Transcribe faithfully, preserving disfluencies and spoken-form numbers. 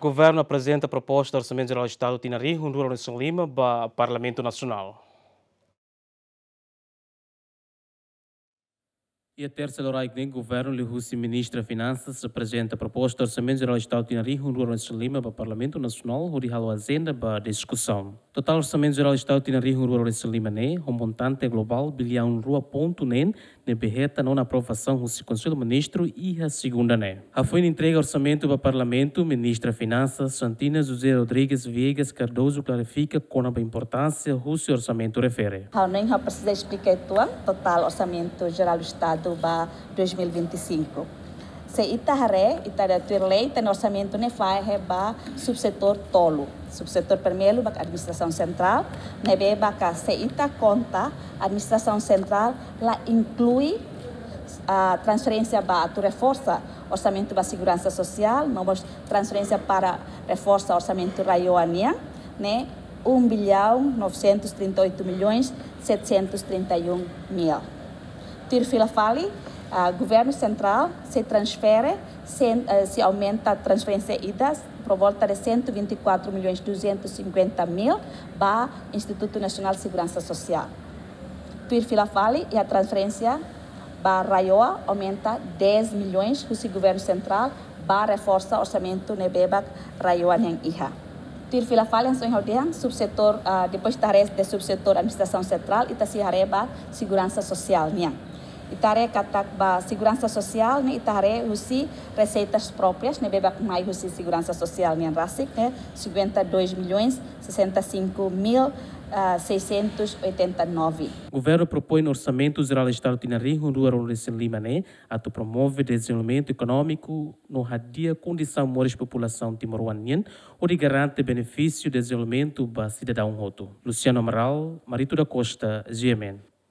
Governu aprezenta proposta Orsamentu Jerál Estadu tinan rihun rua ruanulu-resin-lima ba Parlamentu Nasionál. Iha tersa loraik ne'e, Governu liuhusi Ministra Finansas aprezenta proposta Orsamentu Jerál Estadu tinan rihun rua ruanulu-resin-lima ba Parlamentu Nasionál hodi halo ajenda ba diskusaun. Totál Orsamentu Jerál Estadu tinan rihun rua ruanulu-resin-lima ne'e ho montante globál biliaun rua pontu neen, ne'ebé hetan ona aprovasaun husi Konsellu Ministru iha segunda ne'e. Hafoin entrega orsamentu ba Parlamentu, Ministra Finansas Santina José Rodrigues Viegas Cardoso klarifika kona-ba importánsia husi orsamentu refere. Ha'u hanoin ha'u presiza esplika uitoan totál Orsamentu Jerál Estadu ba dois mil e vinte e cinco. Se ita haree, ita-nia tuir lei, ita-nia orsamentu ne'e fahe ba subsetór tolu. Subsetór primeiru ba administrasaun sentrál, ne'ebé ba ka se ita konta administrasaun sentrál la inklui, ah, transferénsia ba atu reforsa orsamentu ba seguransa sosiál, no mós transferénsia para reforsa orsamentu RAEOA nian, ne'e um bilhão novecentos e trinta e oito milhões setecentos e trinta e um mil. Tuir fila fali, ah, Governu Sentrál sei transfere, sen-, eh, sei aumenta transferénsia ida por volta de cento e vinte e quatro milhões duzentos e cinquenta mil ba Instituto Nacional de Segurança Social. Tuir fila fali, iha transferénsia ba RAEOA aumenta dez milhões husi Governu Sentrál ba reforsa orsamentu ne'ebé ba RAEOA nian iha. Tuir fila fali, hanesan ohin ha'u dehan, subsetór, ah, depois ita haree de subsetór administrasaun sentrál, ita sei haree ba seguransa sosiál nian. Ita haree katak ba seguransa sosiál ne'e ita haree husi reseitas próprias ne'ebé ba mai husi seguransa sosiál nian rasik ne'e cinquenta e dois milhões sessenta e cinco mil, ah, seiscentos e oitenta e nove. Governu propoin Orsamentu Jerál Estadu tinan rihun rua ruanulu-resin-lima ne'e atu promove dezenvolvimentu ekonómiku no hadi'a kondisaun moris populasaun timoroan nian, hodi garante benefísiu dezenvolvimentu ba sidadaun hotu. Luciano Amaral, Marito da Costa, G M N.